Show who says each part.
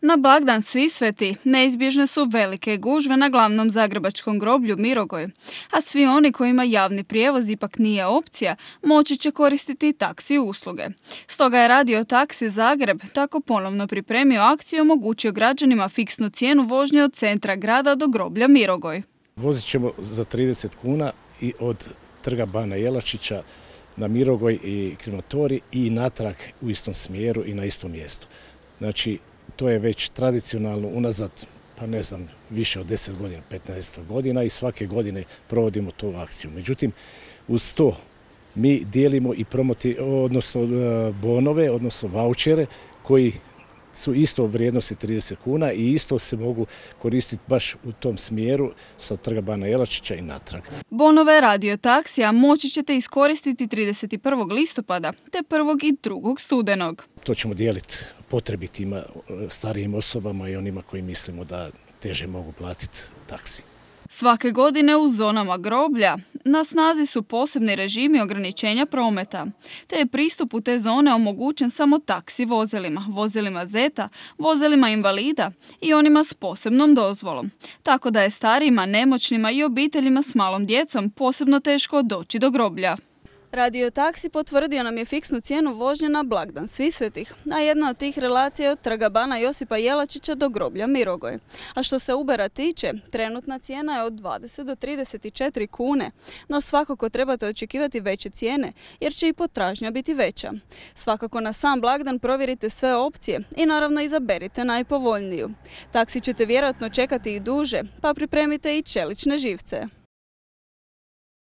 Speaker 1: Na blagdan Svi sveti neizbježne su velike gužve na glavnom zagrebačkom groblju Mirogoj, a svi oni kojima javni prijevoz ipak nije opcija, moći će koristiti taksi usluge. Stoga je Radio Taksi Zagreb tako ponovno pripremio akciju i omogućio građanima fiksnu cijenu vožnje od centra grada do groblja Mirogoj.
Speaker 2: Vozit ćemo za 30 kuna i od trga Bana Jelačića na Mirogoj i krematorij i natrag u istom smjeru i na istom mjestu. Znači, to je već tradicionalno unazad, pa ne znam, više od 10 godina, 15 godina i svake godine provodimo tu akciju. Međutim, uz to mi dijelimo i bonove, odnosno vaučere koji su isto vrijednosti 30 kuna i isto se mogu koristiti baš u tom smjeru sa trga Bana Jelačića i natrag.
Speaker 1: Bonove Radio Taksija moći ćete iskoristiti 31. listopada te 1. i 2. studenog.
Speaker 2: To ćemo dijeliti potrebitima, starijim osobama i onima koji mislimo da teže mogu platiti taksi.
Speaker 1: Svake godine u zonama groblja na snazi su posebni režimi ograničenja prometa, te je pristup u te zone omogućen samo taksi vozilima, vozilima Zeta, vozilima invalida i onima s posebnom dozvolom. Tako da je starijima, nemoćnima i obiteljima s malom djecom posebno teško doći do groblja. Radio Taksi potvrdio nam je fiksnu cijenu vožnje na blagdan Svi svetih, a jedna od tih relacija je od trga Bana Josipa Jelačića do groblja Mirogoj. A što se Ubera tiče, trenutna cijena je od 20 do 34 kune, no svakako trebate očekivati veće cijene, jer će i potražnja biti veća. Svakako na sam blagdan provjerite sve opcije i naravno izaberite najpovoljniju. Taksi ćete vjerojatno čekati i duže, pa pripremite i čelične živce.